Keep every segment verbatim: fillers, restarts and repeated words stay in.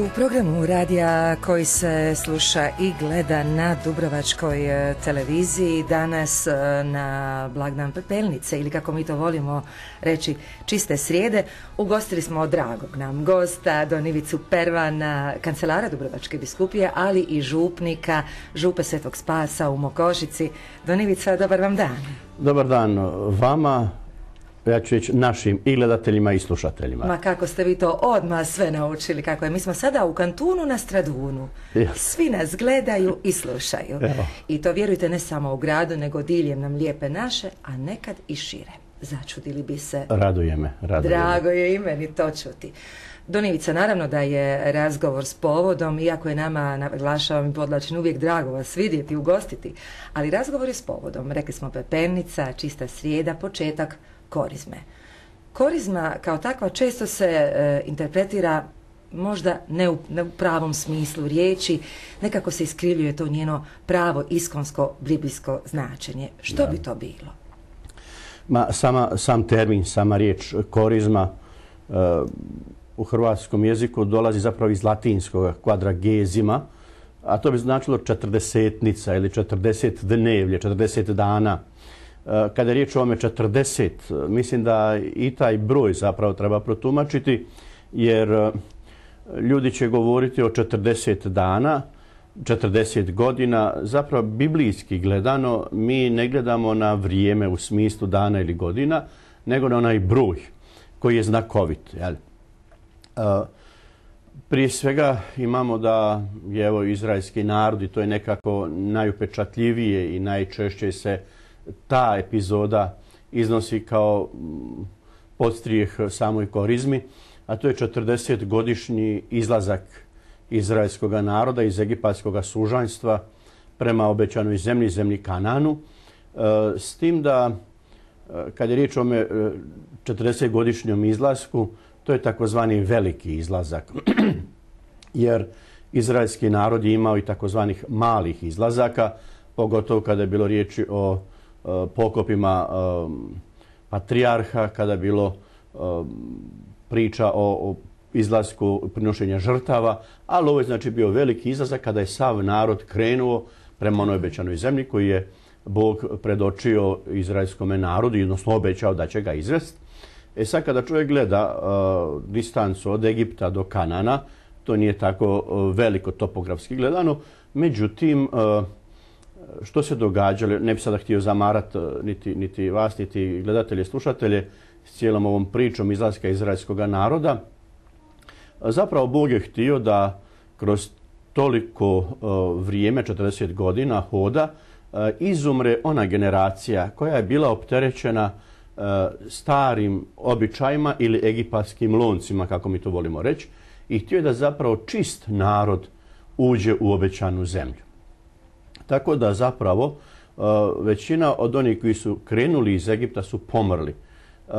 U programu radija koji se sluša i gleda na Dubrovačkoj televiziji danas na blagdan Pepelnice ili kako mi to volimo reći čiste srijede, ugostili smo dragog nam gosta, don Ivicu Pervana, kancelara Dubrovačke biskupije, ali i župnika Župe Svetog Spasa u Mokošici. Don Ivica, dobar vam dan. Dobar dan vama. Ja ću reći našim i gledateljima i slušateljima. Ma kako ste vi to odmah sve naučili, kako je. Mi smo sada u kantunu na Stradunu. Ja. Svi nas gledaju i slušaju. Evo. I to vjerujte ne samo u gradu, nego diljem nam lijepe naše, a nekad i šire. Začudili bi se. Raduje me. Raduje Drago me. je i meni to čuti. Don Ivica, naravno da je razgovor s povodom, iako je nama, naglašavam i podlačim, uvijek drago vas vidjeti, ugostiti, ali razgovor je s povodom. Rekli smo Pepelnica, čista srijeda, početak korizme. Korizma kao takva često se e, interpretira možda ne u, ne u pravom smislu riječi, nekako se iskrivljuje to njeno pravo iskonsko biblijsko značenje. Što da. bi to bilo? Ma, sama, sam termin, sama riječ korizma e, u hrvatskom jeziku dolazi zapravo iz latinskog quadragesima, a to bi značilo četrdesetnica ili četrdeset dnevlje, četrdeset dana. Kada je riječ o ovome četrdeset, mislim da i taj broj zapravo treba protumačiti, jer ljudi će govoriti o četrdeset dana, četrdeset godina. Zapravo, biblijski gledano, mi ne gledamo na vrijeme u smislu dana ili godina, nego na onaj broj koji je znakovit. Jel? Prije svega imamo da je evo izraelski narod i to je nekako najupečatljivije i najčešće se ta epizoda iznosi kao podstrijeh samoj korizmi, a to je četrdesetgodišnji izlazak izraelskog naroda iz egipatskog sužanjstva prema obećanoj zemlji, zemlji Kananu. S tim da, kad je riječ o četrdesetgodišnjom izlasku, to je takozvani veliki izlazak. Jer izraelski narod je imao i takozvanih malih izlazaka, pogotovo kada je bilo riječi o pokopima um, patrijarha, kada je bilo um, priča o, o izlasku prinošenja žrtava, ali ovo je znači bio veliki izlazak kada je sav narod krenuo prema onoj obećanoj zemlji koju je Bog predočio izraelskome narodu, odnosno obećao da će ga izvesti. E sad kada čovjek gleda uh, distancu od Egipta do Kanana, to nije tako uh, veliko topografski gledano, međutim uh, što se događalo, ne bi sada htio zamarati niti, niti vas, niti gledatelje, slušatelje s cijelom ovom pričom izlaska izraelskog naroda. Zapravo Bog je htio da kroz toliko uh, vrijeme, četrdeset godina hoda, uh, izumre ona generacija koja je bila opterećena uh, starim običajima ili egipatskim loncima, kako mi to volimo reći, i htio je da zapravo čist narod uđe u obećanu zemlju. Tako da zapravo uh, većina od onih koji su krenuli iz Egipta su pomrli. Uh,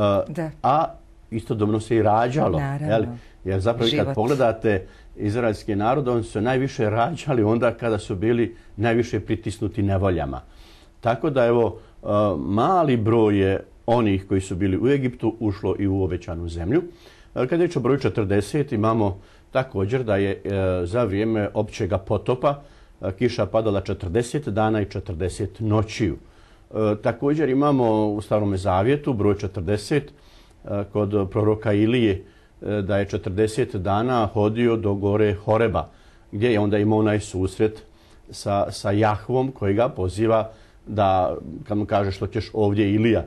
a istodobno se i rađalo. Jel? Jer zapravo Život. Kad pogledate izraelski narod, oni su najviše rađali onda kada su bili najviše pritisnuti nevoljama. Tako da evo, uh, mali broj je onih koji su bili u Egiptu ušlo i u obećanu zemlju. Uh, kad je riječ o broju četrdeset, imamo također da je uh, za vrijeme općega potopa kiša padala četrdeset dana i četrdeset noćiju. E, također imamo u Starome zavjetu broj četrdeset e, kod proroka Ilije e, da je četrdeset dana hodio do gore Horeba, gdje je onda imao onaj susret sa, sa Jahvom koji ga poziva da, kad mu kaže što ćeš ovdje Ilija.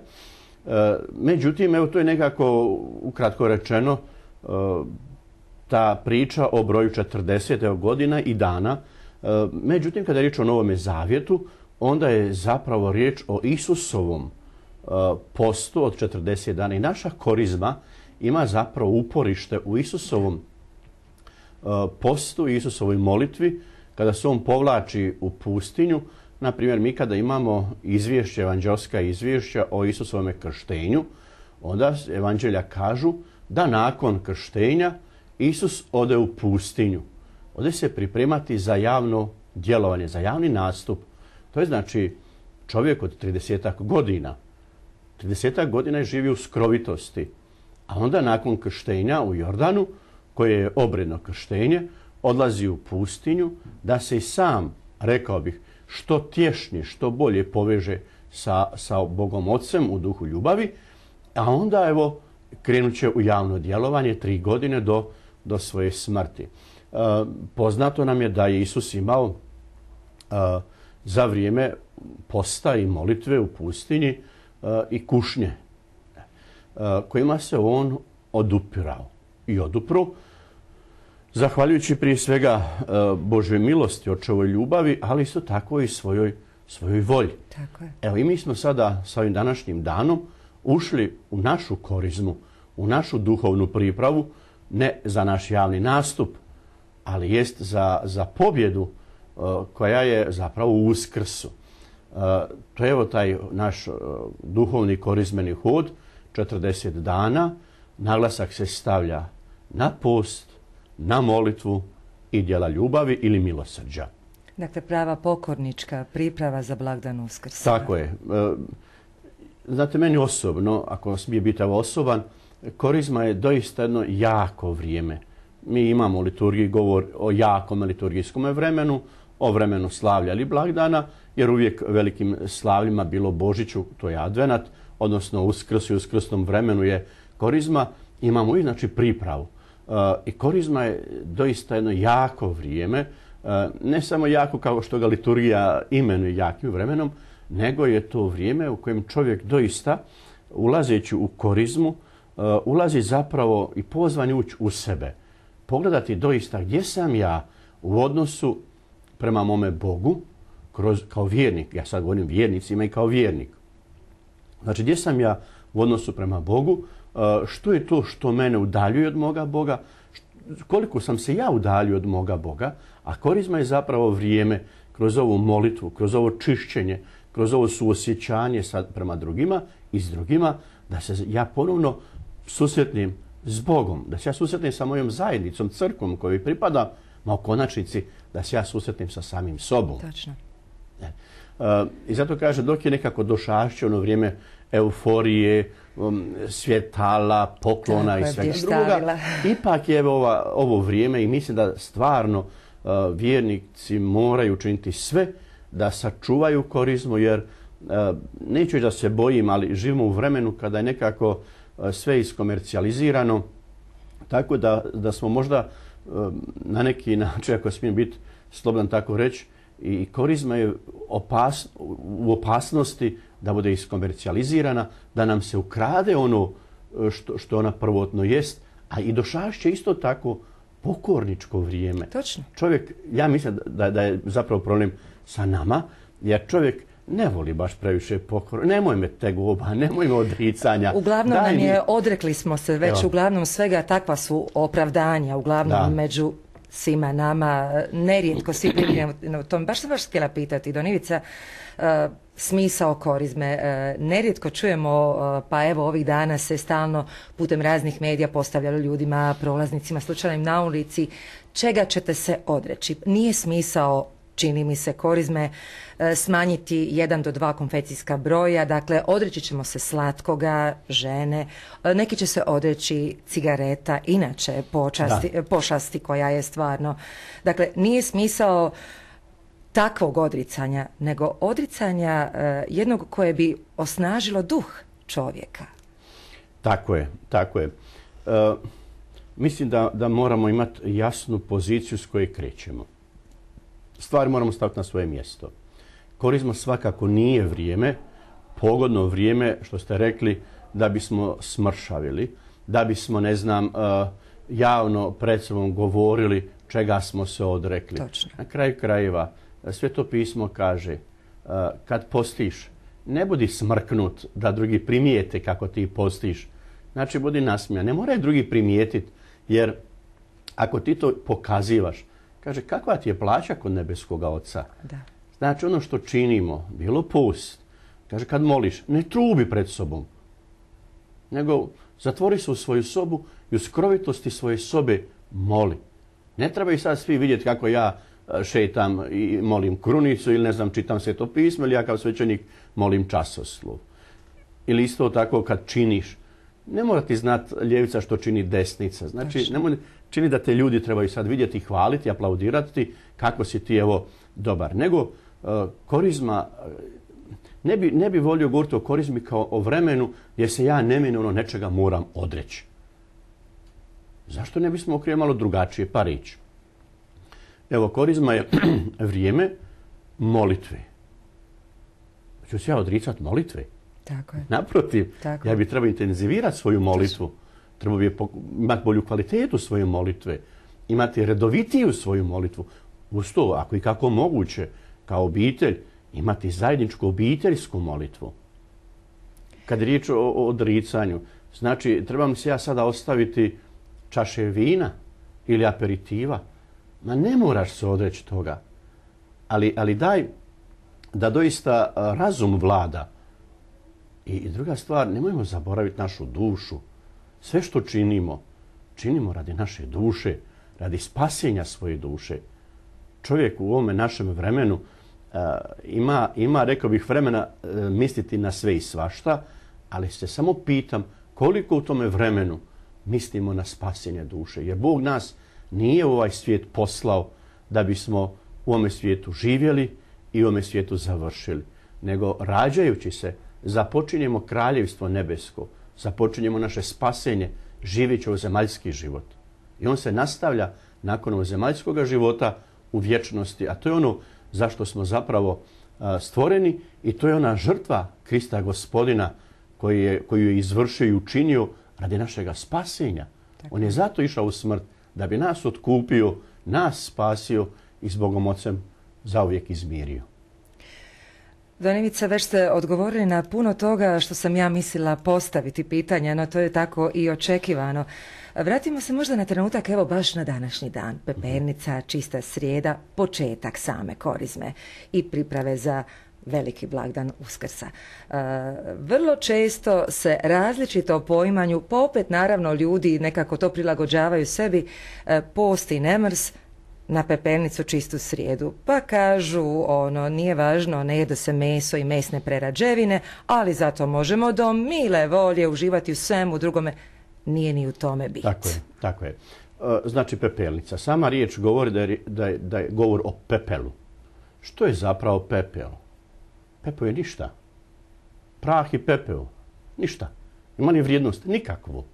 E, međutim, evo to je nekako ukratko rečeno e, ta priča o broju četrdeset evo, godina i dana. Međutim, kada je riječ o Novome zavjetu, onda je zapravo riječ o Isusovom postu od četrdeset dana. I naša korizma ima zapravo uporište u Isusovom postu, Isusovoj molitvi, kada se on povlači u pustinju. Na primjer, mi kada imamo izvješće, evanđelska izvješća o Isusovome krštenju, onda evanđelja kažu da nakon krštenja Isus ode u pustinju. Ode se pripremati za javno djelovanje, za javni nastup. To je znači čovjek od tridesetak godina. tridesetak godina je živio u skrovitosti. A onda nakon krštenja u Jordanu, koje je obredno krštenje, odlazi u pustinju da se i sam, rekao bih, što tješnije, što bolje poveže sa, sa Bogom Otcem u duhu ljubavi, a onda evo krenut će u javno djelovanje tri godine do, do svoje smrti. E, poznato nam je da je Isus imao e, za vrijeme posta i molitve u pustinji e, i kušnje e, kojima se on odupirao i odupru, zahvaljujući prije svega e, Božoj milosti, očevoj ljubavi, ali isto tako i svojoj, svojoj volji. Tako je. Evo i mi smo sada sa ovim današnjim danom ušli u našu korizmu, u našu duhovnu pripravu, ne za naš javni nastup, ali jest za, za pobjedu uh, koja je zapravo u Uskrsu. Uh, to je evo taj naš uh, duhovni korizmeni hod, četrdeset dana, naglasak se stavlja na post, na molitvu i djela ljubavi ili milosrđa. Dakle, prava pokornička priprava za blagdan Uskrsa. Tako je. Uh, Znate, meni osobno, ako smije biti osoban, korizma je doista jedno jako vrijeme. Mi imamo u liturgiji govor o jakom liturgijskom vremenu, o vremenu slavlja ili blagdana, jer uvijek velikim slavljima bilo Božiću, to je advenat, odnosno Uskrs i uskrsnom vremenu je korizma. Imamo i znači pripravu. E, I korizma je doista jedno jako vrijeme, e, ne samo jako kao što ga liturgija imenuje jakim vremenom, nego je to vrijeme u kojem čovjek doista, ulazeći u korizmu, uh, ulazi zapravo i pozvan ući u sebe. Pogledati doista gdje sam ja u odnosu prema mome Bogu, kroz, kao vjernik, ja sad govorim vjernicima i kao vjernik. Znači, gdje sam ja u odnosu prema Bogu, uh, što je to što mene udaljuje od moga Boga, koliko sam se ja udaljio od moga Boga, a korizma je zapravo vrijeme kroz ovu molitvu, kroz ovo čišćenje, kroz ovo suosjećanje sad prema drugima i s drugima, da se ja ponovno susretnim s Bogom, da se ja susretnim sa mojom zajednicom, crkvom kojoj pripada, ma u konačnici da se ja susretnim sa samim sobom. Tačno. E, I zato kaže, dok je nekako došašće ono vrijeme euforije, um, svjetala, poklona tako i je, svega drugoga, ipak je ova, ovo vrijeme i mislim da stvarno uh, vjernici moraju učiniti sve da sačuvaju korizmu, jer uh, neću da se bojim, ali živimo u vremenu kada je nekako uh, sve iskomercijalizirano, tako da, da smo možda uh, na neki način, ako smijem biti slobodan tako reći, i korizma je opas, u opasnosti da bude iskomercijalizirana, da nam se ukrade ono što, što ona prvotno jest, a i došašće isto tako pokorničko vrijeme. Točno. Čovjek, ja mislim da, da je zapravo problem sa nama, jer čovjek ne voli baš previše pokor. Nemoj me tegoba, nemoj me odricanja. Uglavnom Daj nam mi... je, odrekli smo se već, Evo. uglavnom svega takva su opravdanja, uglavnom Da. među svima nama, nerijetko svi primjenjamo u tom. Baš sam baš htjela pitati, Don Ivica, uh, smisao korizme. Uh, nerijetko čujemo, uh, pa evo ovih dana se stalno putem raznih medija postavljalo ljudima, prolaznicima, slučajnim na ulici, čega ćete se odreći. Nije smisao, čini mi se, korizme smanjiti jedan do dva konfekcijska broja, dakle odreći ćemo se slatkoga, žene, neki će se odreći cigareta, inače počasti, pošasti koja je stvarno. Dakle, nije smisao takvog odricanja, nego odricanja uh, jednog koje bi osnažilo duh čovjeka. Tako je, tako je. Uh, mislim da, da moramo imati jasnu poziciju s koje krećemo. Stvari moramo staviti na svoje mjesto. Korizma svakako nije vrijeme, pogodno vrijeme, što ste rekli, da bismo smršavili, da bismo, ne znam, javno pred sobom govorili čega smo se odrekli. Točno. Na kraju krajeva, Sveto pismo kaže, kad postiš, ne budi smrknut da drugi primijete kako ti postiš. Znači, budi nasmijan. Ne moraju drugi primijetiti, jer ako ti to pokazivaš, kaže, kakva ti je plaća kod nebeskoga Oca? Da. Znači, ono što činimo, bilo post, kaže, kad moliš, ne trubi pred sobom, nego zatvori se u svoju sobu i u skrovitosti svoje sobe moli. Ne treba i sad svi vidjeti kako ja šetam i molim krunicu ili ne znam, čitam Sveto pismo ili ja kao svećenik molim časoslov. Ili isto tako kad činiš, ne mora ti znati ljevica što čini desnica. Znači, nemoj čini da te ljudi trebaju sad vidjeti, hvaliti, aplaudirati kako si ti evo dobar. Nego uh, korizma, ne bi, ne bi volio govoriti o korizmi kao o vremenu gdje se ja neminovno nečega moram odreći. Zašto ne bismo okrenuli malo drugačije pa reći? Evo, korizma je vrijeme molitve. Ću se ja odricati molitve? Tako je. Naprotiv, Tako ja je. bi trebao intenzivirati svoju molitvu. Trebao bi imati bolju kvalitetu svoje molitve. Imati redovitiju svoju molitvu. Uz to, ako i kako moguće, kao obitelj, imati zajedničku obiteljsku molitvu. Kad je riječ o, o odricanju, znači, trebam se ja sada ostaviti čaše vina ili aperitiva? Ma ne moraš se odreći toga. Ali, ali daj da doista razum vlada. I, I druga stvar, nemojmo zaboraviti našu dušu. Sve što činimo, činimo radi naše duše, radi spasenja svoje duše. Čovjek u ovome našem vremenu uh, ima, ima, rekao bih, vremena uh, misliti na sve i svašta, ali se samo pitam koliko u tome vremenu mislimo na spasenje duše. Jer Bog nas nije u ovaj svijet poslao da bismo u ovome svijetu živjeli i u ovome svijetu završili. Nego rađajući se, započinjemo kraljevstvo nebesko, započinjemo naše spasenje, živeći u zemaljski život. I on se nastavlja nakon ovog zemaljskog života u vječnosti, a to je ono zašto smo zapravo a, stvoreni i to je ona žrtva Krista Gospodina koji je, koju je izvršio i učinio radi našega spasenja. Tako. On je zato išao u smrt da bi nas otkupio, nas spasio i s Bogom Ocem zauvijek izmirio. Don Ivica, već ste odgovorili na puno toga što sam ja mislila postaviti pitanja, no to je tako i očekivano. Vratimo se možda na trenutak, evo baš na današnji dan. Pepernica, čista srijeda, početak same korizme i priprave za veliki blagdan Uskrsa. E, vrlo često se različito o poimanju, pa opet naravno ljudi nekako to prilagođavaju sebi, e, post i nemrs, na pepernicu čistu srijedu. Pa kažu, ono, nije važno, ne jede se meso i mesne prerađevine, ali zato možemo do mile volje uživati u svemu drugome. Nije ni u tome bit. Tako je, tako je. Znači pepelnica. Sama riječ govori da je, da je, da je govor o pepelu. Što je zapravo pepel? Pepeo je ništa. Prah i pepeo. Ništa. Ima ni vrijednost? Nikakvu.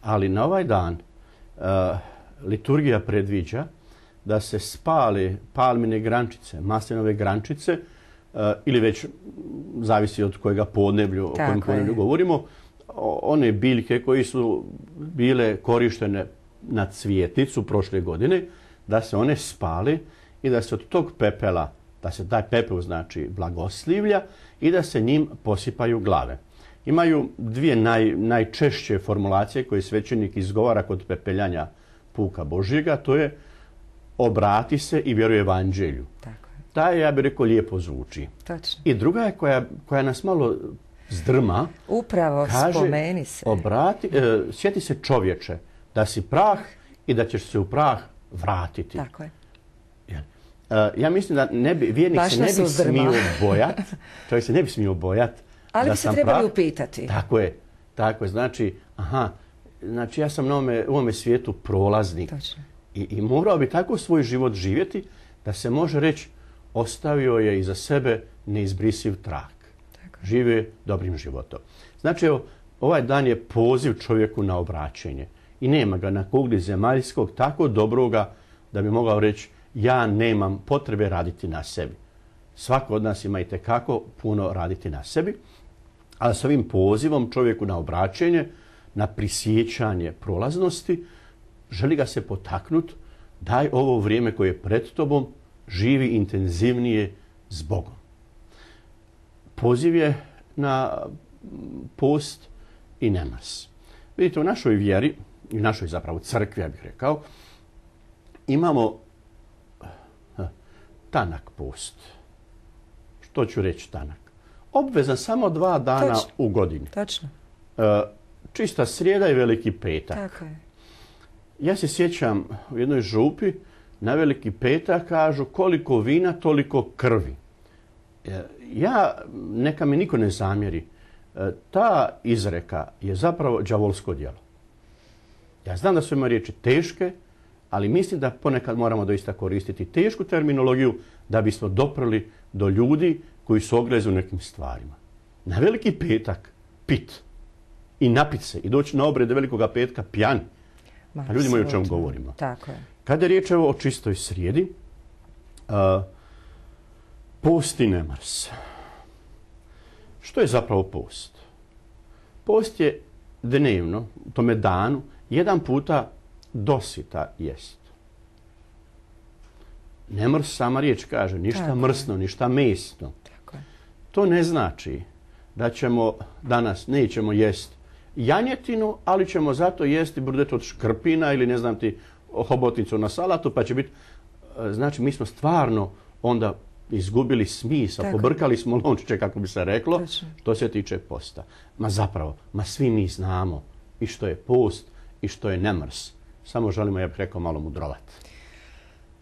Ali na ovaj dan uh, liturgija predviđa da se spale palmine grančice, maslinove grančice, uh, ili već zavisi od kojega podneblju, o kojem podneblju govorimo, one biljke koje su bile korištene na cvjetnicu prošle godine, da se one spale i da se od tog pepela, da se taj pepel znači blagoslivlja i da se njim posipaju glave. Imaju dvije naj, najčešće formulacije koje svećenik izgovara kod pepeljanja puka Božjega, to je obrati se i vjeruje evanđelju. Tako je. Ta je, ja bih rekao, lijepo zvuči. Točno. I druga je koja, koja nas malo zdrma. Upravo, kaže, spomeni se. Obrati, e, sjeti se čovječe da si prah i da ćeš se u prah vratiti. Tako je. E, ja mislim da ne bi, vjernik Baš se ne bi smio bojat, čovjek se ne bi smio bojat. Ali da bi se sam trebali prah. upitati. Tako je, tako je. Znači, aha, znači ja sam na ovome, u ovome svijetu prolaznik. Točno. I, I morao bi tako svoj život živjeti da se može reći ostavio je iza sebe neizbrisiv trag. Žive dobrim životom. Znači, evo, ovaj dan je poziv čovjeku na obraćenje. I nema ga na kugli zemaljskog tako dobroga da bi mogao reći ja nemam potrebe raditi na sebi. Svako od nas ima itekako puno raditi na sebi, ali s ovim pozivom čovjeku na obraćenje, na prisjećanje prolaznosti, želi ga se potaknuti, daj ovo vrijeme koje je pred tobom, živi intenzivnije s Bogom. Poziv je na post i nemrs. Vidite, u našoj vjeri, i u našoj zapravo crkvi, ja bih rekao, imamo tanak post. Što ću reći tanak? Obvezan samo dva dana Točno. u godini. Točno. Čista srijeda i veliki petak. Tako je. Ja se sjećam u jednoj župi, na veliki petak kažu koliko vina, toliko krvi. Ja, neka mi niko ne zamjeri, Ta izreka je zapravo đavolsko djelo. Ja znam da su ima riječi teške, ali mislim da ponekad moramo doista koristiti tešku terminologiju da bismo doprli do ljudi koji su ogrezli u nekim stvarima. Na Veliki petak pit i napit se i doći na obrede Velikoga petka pjani. Pa ljudi moji, o čemu govorimo. Tako je. Kada je riječ o čistoj srijedi, uh, post i nemrs. Što je zapravo post? Post je dnevno, u tome danu, jedan puta dosita jest. Nemrs, sama riječ kaže, ništa Tako mrsno, je. ništa mesno. Tako je. To ne znači da ćemo danas, nećemo jest janjetinu, ali ćemo zato jesti brdet od škrpina ili ne znam ti hobotnicu na salatu, pa će biti, znači mi smo stvarno onda izgubili smisao, Tako. pobrkali smo lončiće, kako bi se reklo, Točno. što se tiče posta. Ma zapravo, ma svi mi znamo i što je post i što je nemrs. Samo želimo, ja bih rekao, malo mudrovati.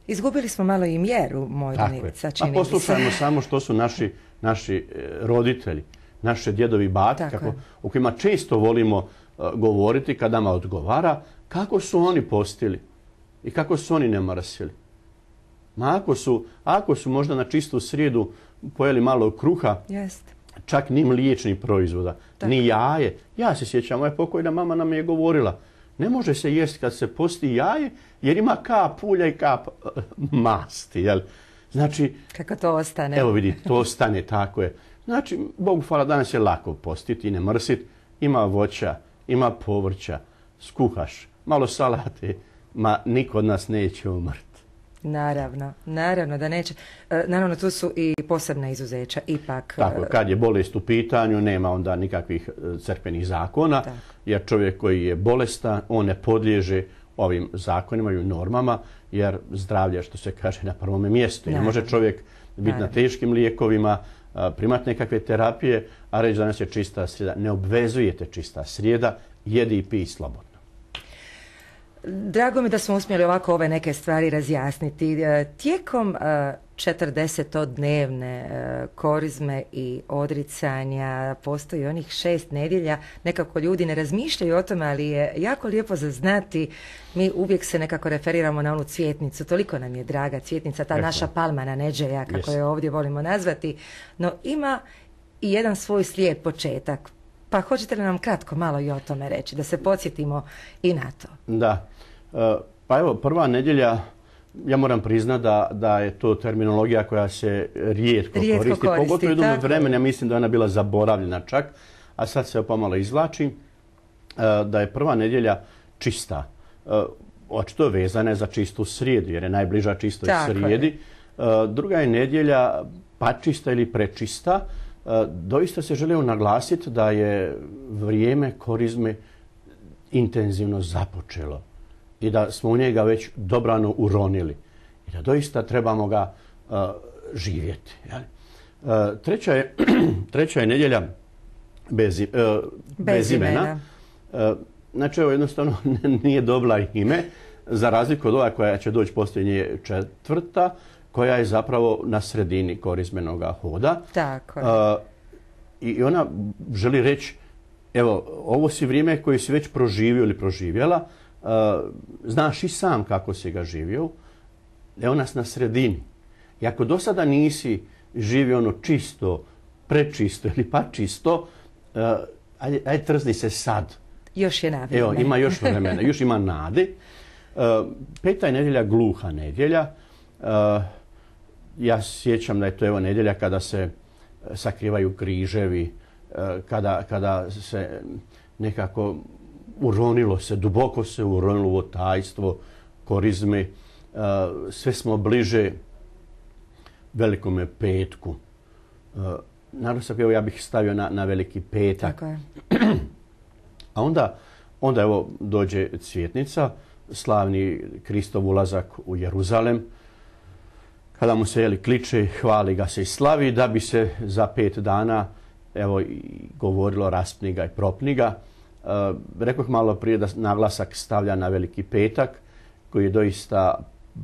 Izgubili smo malo i mjeru, moj Donivica, čini mi se. A poslušajmo samo što su naši, naši roditelji, naše djedovi i bake, kako, o kojima često volimo uh, govoriti kad nama odgovara, kako su oni postili i kako su oni nemrsili. Ma ako su, ako su možda na čistu srijedu pojeli malo kruha, Jest. čak ni mliječnih proizvoda, Tako. ni jaje. Ja se sjećam, moja pokojna mama nam je govorila, ne može se jesti kad se posti jaje, jer ima kap ulja i kap uh, masti. Jel? Znači, kako to ostane. Evo vidi, to ostane, tako je. Znači, Bogu hvala, danas je lako postiti i ne mrsiti. Ima voća, ima povrća, skuhaš, malo salate, ma niko od nas neće umrti. Naravno, naravno da neće. E, naravno, tu su i posebna izuzeća, ipak. Tako, kad je bolest u pitanju, nema onda nikakvih crkvenih zakona, tako. jer čovjek koji je bolestan, on ne podliježe ovim zakonima i normama, jer zdravlje, što se kaže, na prvome mjestu. Ne može čovjek biti naravno. na teškim lijekovima, primati nekakve terapije, a reći da nas je čista srijeda. Ne obvezujete čista srijeda, jedi i pij slobodno. Drago mi da smo uspjeli ovako ove neke stvari razjasniti. Tijekom četrdesetodnevne korizme i odricanja postoji onih šest nedjelja. Nekako ljudi ne razmišljaju o tome, ali je jako lijepo za znati. Mi uvijek se nekako referiramo na onu cvjetnicu. Toliko nam je draga cvjetnica, ta Rekla. naša palmana neđeja, kako yes. je ovdje volimo nazvati. No ima i jedan svoj slijed početak. Pa hoćete li nam kratko malo i o tome reći, da se podsjetimo i na to? Da. Pa evo, prva nedjelja, ja moram priznati da, da je to terminologija koja se rijetko, rijetko koristi. koristi. Pogotovo u jednom vremenu, ja mislim da ona bila zaboravljena čak, a sad se pomalo izvlači, da je prva nedjelja čista. Očito vezana za čistu srijedu, jer je najbliža čistoj Tako srijedi. Je. Druga je nedjelja pačista ili prečista. Doista se želio naglasiti da je vrijeme korizme intenzivno započelo i da smo u njega već dobrano uronili i da doista trebamo ga uh, živjeti. Uh, treća, je, treća je nedjelja bez, uh, bez, bez imena. imena. Uh, znači, evo, jednostavno nije dobila ime, za razliku od ova koja će doći poslije nje četvrta, koja je zapravo na sredini korizmenog hoda. Tako je. Uh, I ona želi reći, evo, ovo si vrijeme koje si već proživio ili proživjela, uh, znaš i sam kako si ga živio, evo nas na sredini. I ako do sada nisi živio ono čisto, prečisto ili pa čisto, uh, ajde, ajde trzni se sad. Još je na vrijeme. Evo, ima još vremena, još ima nade. Uh, peta je nedjelja gluha nedjelja. Uh, ja sjećam da je to evo nedjelja kada se sakrivaju križevi, kada, kada se nekako uronilo se, duboko se uronilo u tajstvo korizme. Sve smo bliže Velikome petku. Naravno, evo ja bih stavio na, na Veliki petak. Tako je. A onda, onda evo dođe cvjetnica, slavni Kristov ulazak u Jeruzalem, kada mu se jeli kliče, hvali ga se i slavi, da bi se za pet dana evo, govorilo raspni ga i propni ga. E, rekoh malo prije da naglasak stavlja na Veliki petak, koji je doista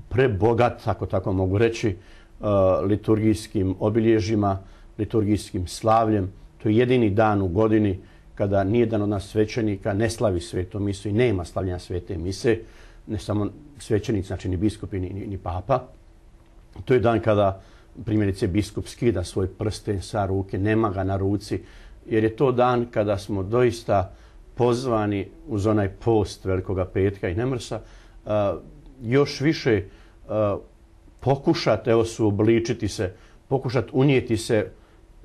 prebogat, ako tako mogu reći, e, liturgijskim obilježjima, liturgijskim slavljem. To je jedini dan u godini kada nijedan od nas svećenika ne slavi svetu misu i nema slavljenja svete mise, ne samo svećenici, znači ni biskupi, ni, ni, ni papa. To je dan kada, primjerice, biskup skida svoj prsten sa ruke, nema ga na ruci, jer je to dan kada smo doista pozvani uz onaj post Velikoga petka i Nemrsa, uh, još više uh, pokušati, evo su obličiti se, pokušati unijeti se,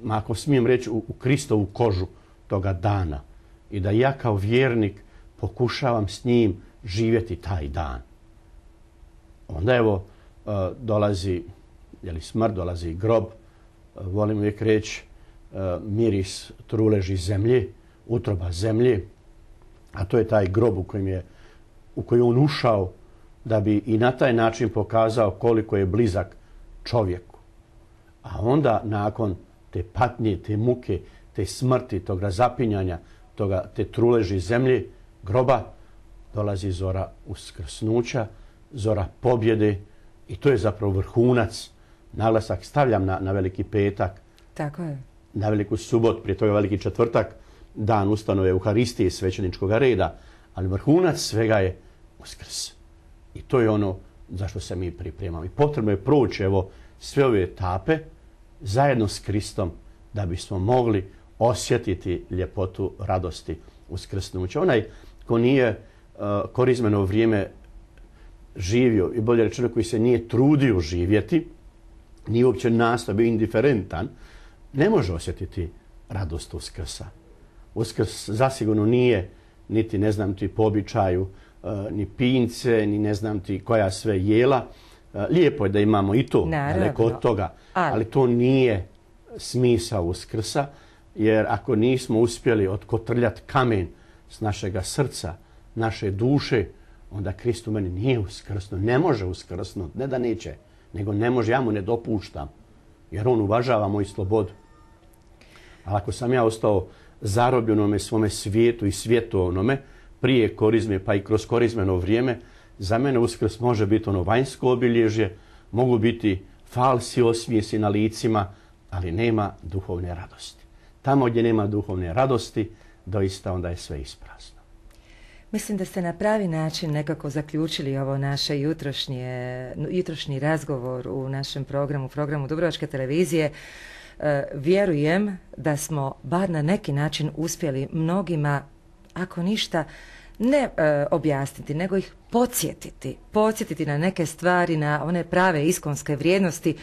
ako smijem reći, u, u Kristovu kožu toga dana. I da ja kao vjernik pokušavam s njim živjeti taj dan. Onda evo uh, dolazi jeli, smrt, dolazi grob, uh, volim uvijek reći uh, miris truleži zemlje, utroba zemlje, a to je taj grob u kojem je, u koji je on ušao da bi i na taj način pokazao koliko je blizak čovjeku. A onda nakon te patnje, te muke, te smrti, tog razapinjanja, toga, te truleži zemlje, groba, dolazi zora uskrsnuća, zora pobjede i to je zapravo vrhunac. Naglasak stavljam na, na Veliki petak, tako je, na Veliku subot, prije toga Veliki četvrtak, dan ustanove Euharistije svećeničkog reda, ali vrhunac svega je Uskrs. I to je ono zašto se mi pripremamo. I potrebno je proći evo sve ove etape zajedno s Kristom da bismo mogli osjetiti ljepotu radosti uskrsnuća. Onaj ko nije uh, korizmeno vrijeme živio, i bolje rečeno koji se nije trudio živjeti, nije uopće nastao, bio indiferentan, ne može osjetiti radost Uskrsa. Uskrs zasigurno nije niti, ne znam ti, po običaju, uh, ni pince, ni ne znam ti koja sve jela. Uh, lijepo je da imamo i to, daleko od toga, ali. ali to nije smisao Uskrsa, jer ako nismo uspjeli otkotrljati kamen s našega srca, naše duše, onda Krist u meni nije uskrsnuo, ne može uskrsnuti, ne da neće, nego ne može, ja mu ne dopuštam, jer on uvažava moju slobodu. Ali ako sam ja ostao zarobljen onome svome svijetu i svjetovnome, prije korizme pa i kroz korizmeno vrijeme, za mene Uskrs može biti ono vanjsko obilježje, mogu biti falsi osmijesi na licima, ali nema duhovne radosti. Tamo gdje nema duhovne radosti, doista onda je sve isprazno. Mislim da ste na pravi način nekako zaključili ovo naše jutrošnje, jutrošnji razgovor u našem programu, programu Dubrovačke televizije. E, vjerujem da smo bar na neki način uspjeli mnogima, ako ništa, ne e, objasniti, nego ih podsjetiti. Podsjetiti na neke stvari, na one prave iskonske vrijednosti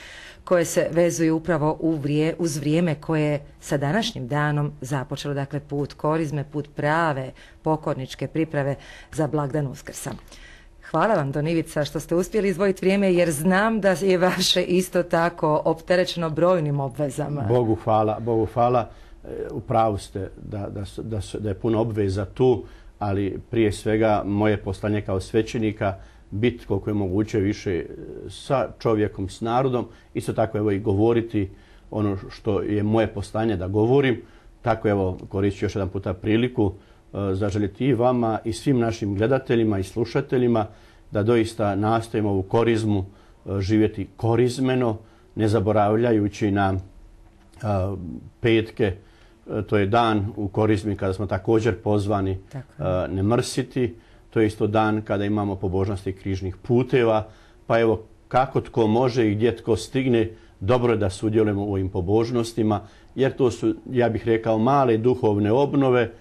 koje se vezuju upravo u vrije, uz vrijeme koje je sa današnjim danom započelo, dakle put korizme, put prave pokorničke priprave za blagdan Uskrsa. Hvala vam, Don Ivica, što ste uspjeli izdvojiti vrijeme, jer znam da je vaše isto tako opterećeno brojnim obvezama. Bogu hvala, Bogu hvala. U pravu ste da, da, da, da je puno obveza tu, ali prije svega moje poslanje kao svećenika biti koliko je moguće više sa čovjekom, s narodom, isto tako evo i govoriti ono što je moje poslanje da govorim. Tako evo koristim još jedan puta priliku uh, zaželjeti i vama i svim našim gledateljima i slušateljima da doista nastojimo ovu korizmu uh, živjeti korizmeno, ne zaboravljajući na uh, petke. Uh, to je dan u korizmi kada smo također pozvani uh, ne mrsiti. To je isto dan kada imamo pobožnosti križnih puteva, pa evo kako tko može i gdje tko stigne, dobro je da sudjelujemo u ovim pobožnostima, jer to su, ja bih rekao, male duhovne obnove,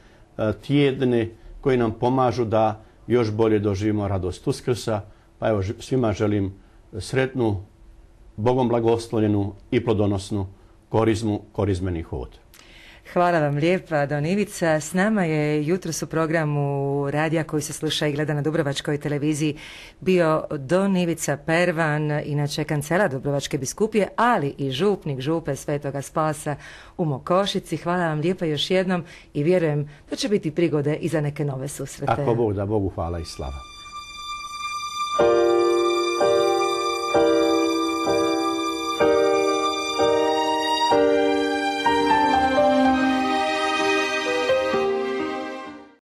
tjedne, koji nam pomažu da još bolje doživimo radost Uskrsa. Pa evo svima želim sretnu, Bogom blagoslovljenu i plodonosnu korizmu, korizmeni hod. Hvala vam lijepa, Don Ivica. S nama je jutros u programu radija koji se sluša i gleda na Dubrovačkoj televiziji bio Don Ivica Pervan, inače kancelar Dubrovačke biskupije, ali i župnik župe Svetoga Spasa u Mokošici. Hvala vam lijepa još jednom i vjerujem da će biti prigode i za neke nove susrete. Ako Bog da, Bogu hvala i slava.